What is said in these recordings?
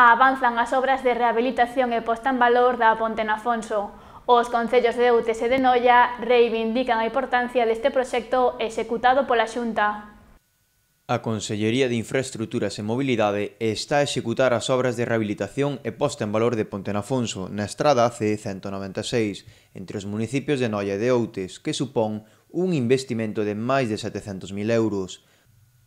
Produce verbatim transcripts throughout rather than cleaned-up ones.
Avanzan as obras de rehabilitación e posta en valor da Ponte en Afonso. Os concellos de Outes e de Noia reivindican a importancia deste proxecto executado pola Xunta. A Consellería de Infraestruturas e Mobilidade está a executar as obras de rehabilitación e posta en valor de Ponte en Afonso na estrada C ciento noventa e seis entre os municipios de Noia e de Outes, que supón un investimento de máis de setecentos mil euros.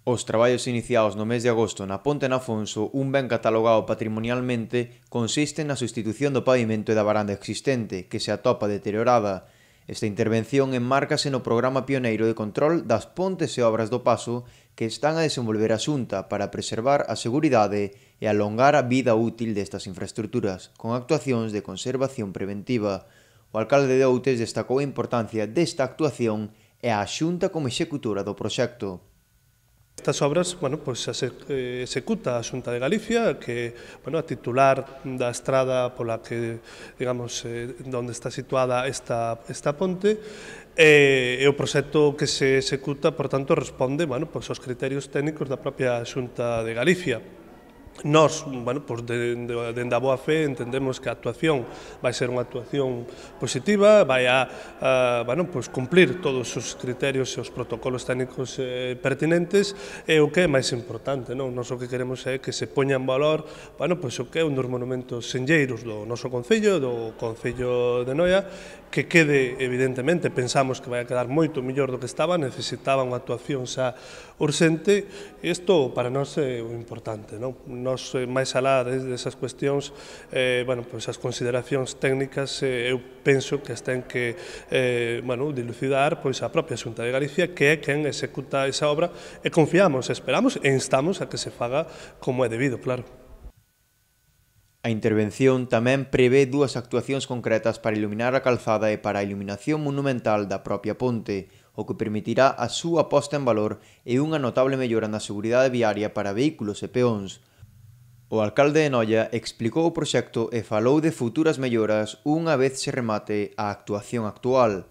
Os traballos iniciados no mes de agosto na Ponte en Afonso, un ben catalogado patrimonialmente, consisten na sustitución do pavimento e da varanda existente, que se atopa deteriorada. Esta intervención enmárcase no programa pioneiro de control das pontes e obras do paso que están a desenvolver a Xunta para preservar a seguridade e alongar a vida útil destas infraestruturas, con actuacións de conservación preventiva. O alcalde de Outes destacou a importancia desta actuación e a Xunta como executora do proxecto. Estas obras, bueno, pues, executa a Xunta de Galicia, que, bueno, a titular da estrada pola que, digamos, eh, onde está situada esta, esta ponte, e, e o proxecto que se executa, por tanto, responde, bueno, pues, aos criterios técnicos da propia Xunta de Galicia. Nós, bueno, pues de, de, dende a boa fe entendemos que a actuación vai ser unha actuación positiva, vai a, a bueno, pues cumplir todos os criterios e os protocolos técnicos eh, pertinentes, e o que é máis importante, non? Nós o que queremos é que se poña en valor, bueno, pues o que é un dos monumentos senlleiros do noso concello, do Concello de Noia, que quede, evidentemente, pensamos que vai a quedar moito mellor do que estaba, necesitaba unha actuación xa urxente, e isto para nós é o importante, non? Nos, máis alá desas cuestións, eh, bueno, pues as consideracións técnicas, eh, eu penso que as ten que eh, bueno, dilucidar pois a propia Xunta de Galicia, que é quen executa esa obra, e confiamos, esperamos e instamos a que se faga como é debido, claro. A intervención tamén prevé dúas actuacións concretas para iluminar a calzada e para a iluminación monumental da propia ponte, o que permitirá a súa posta en valor e unha notable mellora na seguridade viaria para vehículos e peóns. O alcalde de Noia explicou o proxecto e falou de futuras melloras unha vez se remate a actuación actual.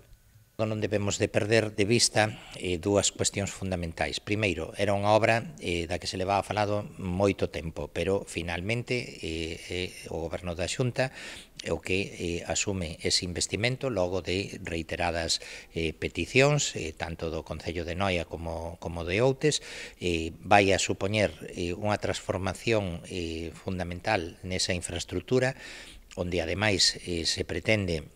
Non debemos de perder de vista eh, dúas cuestións fundamentais. Primeiro, era unha obra eh, da que se levaba falado moito tempo, pero finalmente eh, eh, o goberno da Xunta o que eh, asume ese investimento logo de reiteradas eh, peticións, eh, tanto do Concello de Noia como, como de Outes, eh, vai a supoñer eh, unha transformación eh, fundamental nesa infraestructura, onde ademais eh, se pretende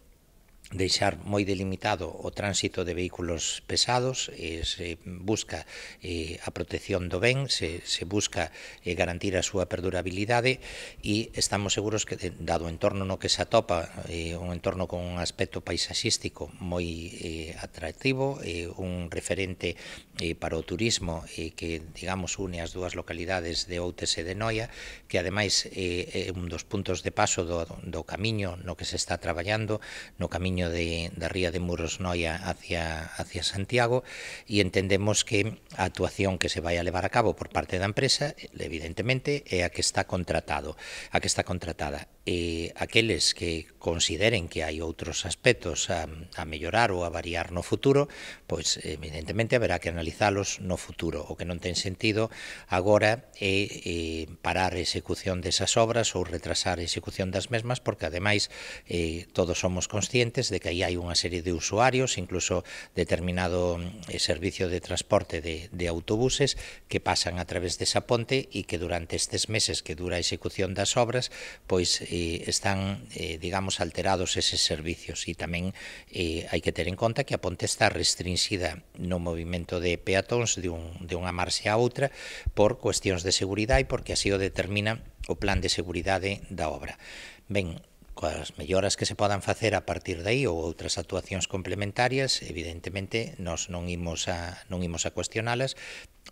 deixar moi delimitado o tránsito de vehículos pesados, eh, se busca eh, a protección do ben, se, se busca eh, garantir a súa perdurabilidade, e estamos seguros que, dado o entorno no que se atopa, eh, un entorno con un aspecto paisaxístico moi eh, atractivo, eh, un referente eh, para o turismo eh, que, digamos, une as dúas localidades de Outes e de Noia, que ademais eh, é un dos puntos de paso do, do camiño no que se está traballando, no camiño De, da ría de Muros Noia hacia, hacia Santiago, e entendemos que a actuación que se vai a levar a cabo por parte da empresa, evidentemente, é a que está contratado, a que está contratada. E aqueles que consideren que hai outros aspectos a, a mellorar ou a variar no futuro, pois evidentemente haberá que analizalos no futuro. O que non ten sentido agora é, é parar a execución desas obras ou retrasar a execución das mesmas, porque ademais eh, todos somos conscientes de que aí hai unha serie de usuarios, incluso determinado eh, servicio de transporte de, de autobuses que pasan a través desa ponte, e que durante estes meses que dura a execución das obras, pois eh, están, eh, digamos, alterados eses servicios. E tamén eh, hai que ter en conta que a ponte está restringida no movimento de peatóns de, un, de unha marxe a outra por cuestións de seguridade, e porque así o determina o plan de seguridade da obra. Ben, coas melloras que se podan facer a partir de aí ou outras actuacións complementarias, evidentemente, nós non imos a, non imos a cuestionalas.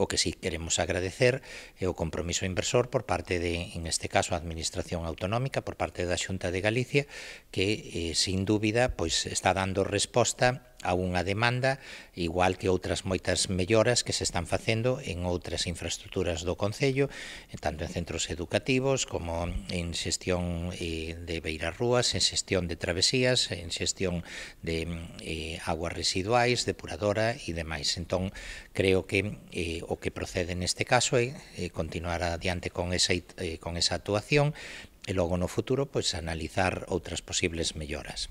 O que sí queremos agradecer é o compromiso inversor por parte de, en este caso, a Administración Autonómica, por parte da Xunta de Galicia, que, eh, sin dúbida, pois está dando resposta a unha demanda, igual que outras moitas melloras que se están facendo en outras infraestructuras do Concello, tanto en centros educativos como en xestión eh, de beirarrúas, en xestión de travesías, en xestión de eh, aguas residuais, depuradora e demais. Entón, creo que eh, o que procede neste caso é eh, continuar adiante con esa, eh, con esa actuación e logo no futuro pois, analizar outras posibles melloras.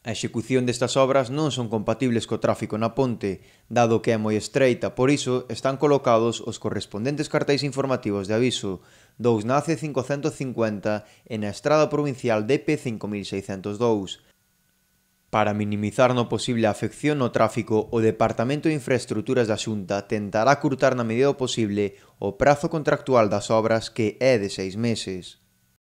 A execución destas obras non son compatibles co tráfico na ponte, dado que é moi estreita, por iso están colocados os correspondentes cartéis informativos de aviso, dous na A C cincocentos cincuenta e na estrada provincial D P cinco mil seiscentos dous. Para minimizar no posible a afección no tráfico, o Departamento de Infraestructuras da Xunta tentará curtar na medida do posible o prazo contractual das obras, que é de seis meses.